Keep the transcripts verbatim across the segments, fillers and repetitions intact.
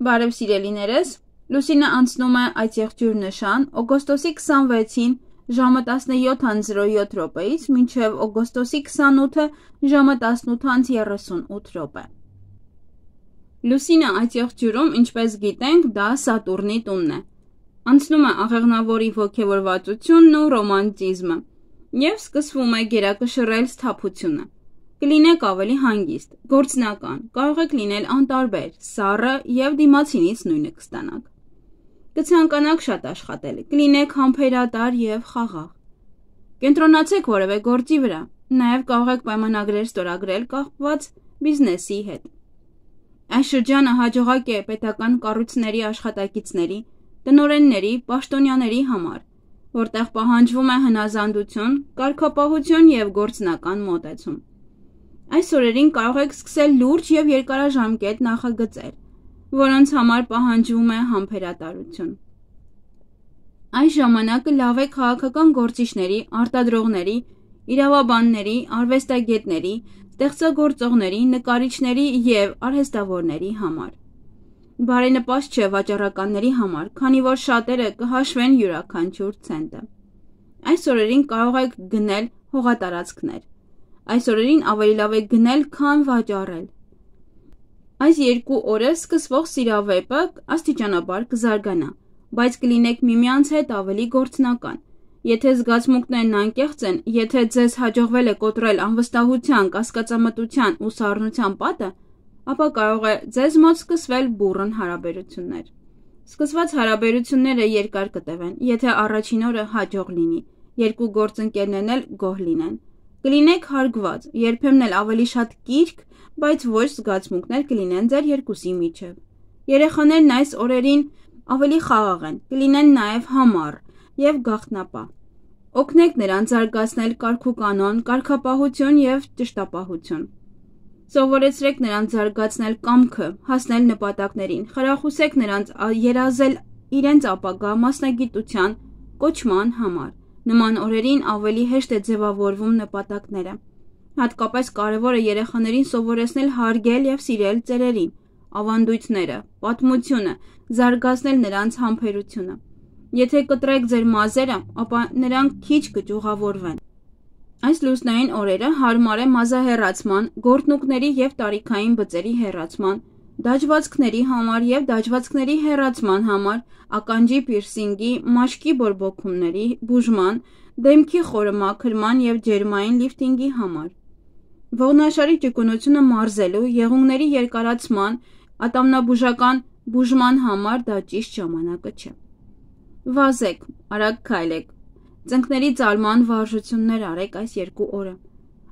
Բարև սիրելիներս, Լուսինը անցնում է այդ եղջյուր նշան օգոստոսի քսանվեցին ժամը տասնյոթ զրո յոթ րոպեից մինչև օգոստոսի քսանութը ժամը տասնութ երեսունութ րոպե։ Լուսինը այդ եղջյուրում, ինչպես գիտենք, դա Սատուրնի տունն է։ Անցնում է աղեղնավորի ոգևորվածությունն ու ռոմանտիզմը և սկսվում է գերակշռել սթափությունը։ Կլինեք ավելի հանգիստ, գործնական, կարող եք լինել անտարբեր, սառը և դիմացինից նույնը կստանաք։ Կցանկանաք շատ աշխատել, կլինեք համբերատար և խաղաղ։ Կենտրոնացեք որևէ գործի վրա, նաև կարող եք պայմանագրեր ստորագրել կապված բիզնեսի հետ։ Այս շրջանը հաջողակ է պետական կառույցների աշխատակիցների, տնօրենների, պաշտոնյաների համար, որտեղ պահանջվում է հնազանդություն, կարգապահություն և գործնական մոտեցում։ Այս օրերին կարող եք սկսել լուրջ և երկարաժամկետ նախագծեր, որոնց համար պահանջվում է համբերատարություն։ Այս ժամանակը լավ է քաղաքական գործիչների, արտադրողների, իրավաբանների, արվեստագետների, ստեղծագործողների, նկարիչների և արհեստավորների համար։ Բարենպաստ չէ վաճառականների համար, քանի որ շատերը կհաշվեն յուրաքանչյուր ցենտը։ Այս օրերին կարող եք գնել հողատարածքներ։ Այս օրերին ավելի լավ է գնել, քան վաճառել։ Այս երկու օրը սկսվող սիրավեպը աստիճանաբար կզարգանա, բայց կլինեք միմյանց հետ ավելի գործնական։ Եթե զգացմունքներն անկեղծ են, եթե ձեզ հաջողվել է կոտրել անվստահության, կասկածամտության ու սառնության պատը, ապա կարող է ձեզ մոտ սկսվել բուռն հարաբերություններ։ Սկսված հարաբերությունները երկար կտևեն, եթե առաջին օրը հաջող լինի, երկու գործընկերներն էլ գոհ լինեն։ Կլինեք հարգված, երբեմն էլ ավելի շատ կիրք, բայց ոչ զգացմունքներ կլինեն ձեր երկուսի միջև։ Երեխաներն այս օրերին ավելի խաղաղ են, կլինեն նաև համառ և գաղտնապահ։ Օգնեք նրանց զարգացնել կարգուկանոն, կարգապահություն և ճշտապահություն։ Սովորեցրեք նրանց զարգացնել կամքը, հասնել նպատակներին, խրախուսեք նրանց երազել իրենց ապագա մասնագիտության կոչման համար։ Նման օրերին ավելի հեշտ է ձևավորվում նպատակները։ Հատկապես կարևոր է երեխաներին սովորեցնել հարգել և սիրել ծերերին, ավանդույթները, պատմությունը, զարգացնել նրանց համբերությունը։ Եթե կտրեք ձեր մազերը, ապա նրանք քիչ կճյուղավորվեն։ Այս լուսնային օրերը հարմար է մազահեռացման, գորտնուկների և տարիքային բծերի հեռացման, դաջվածքների համար և դաջվածքների հեռացման համար, ականջի պիրսինգի, մաշկի բորբոքումների բուժման, դեմքի խորը մաքրման և ջերմային լիֆտինգի համար։ Ողնաշարի ճկունությունը մարզելու, եղունգների երկարացման, ատամնաբուժական բուժման համար դա ճիշտ ժամանակը չէ։ Վազեք, արագ քայլեք, ծնկների ծալման վարժություններ արեք այս երկու օրը։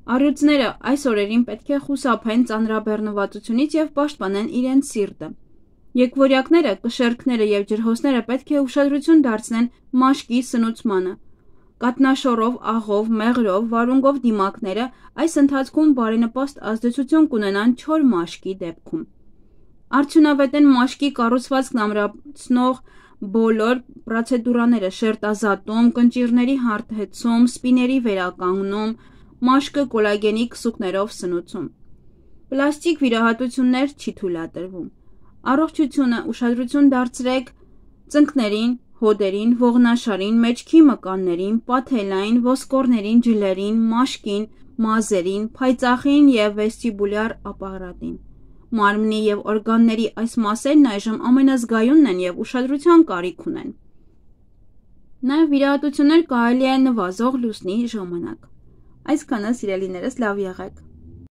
Առյուծները այս օրերին պետք է խուսափեն ծանրաբեռնվածությունից և պաշտպանեն իրենց սիրտը։ Եկվորյակները, կշեռքները և ջրհոսները պետք է ուշադրություն դարձնեն մաշկի սնուցմանը։ Կաթնաշոռով, աղով, մեղրով, վարունգով դիմակները այս ընթացքում բարենպաստ ազդեցություն կունենան չոր մաշկի դեպքում։ Արդյունավետ են մաշկի կառուցվածքն ամրացնող բոլոր պրոցեդուրաները՝ շերտազատում, կնճիռների հարթեցում, սպիների վերականգնում, մաշկը կոլագենի քսուկներով սնուցում։ Պլաստիկ վիրահատություններ չի թույլատրվում։ Առողջությունը ուշադրություն դարձրեք ծնկներին, հոդերին, ողնաշարին, մեջքի մկաններին, պաթելային, ոսկորներին, ջլերին, մաշկին, մազերին, փայծաղին և վեստիբուլյար ապարատին։ Մարմնի և օրգանների այս մասերն այժմ ամենազգայունն են և ուշադրության կարիք ունեն։ Նաև վիրահատություններ կարելի է նվազող լուսնի ժամանակ։ Այսքանը սիրելիներս, լավ եղեք։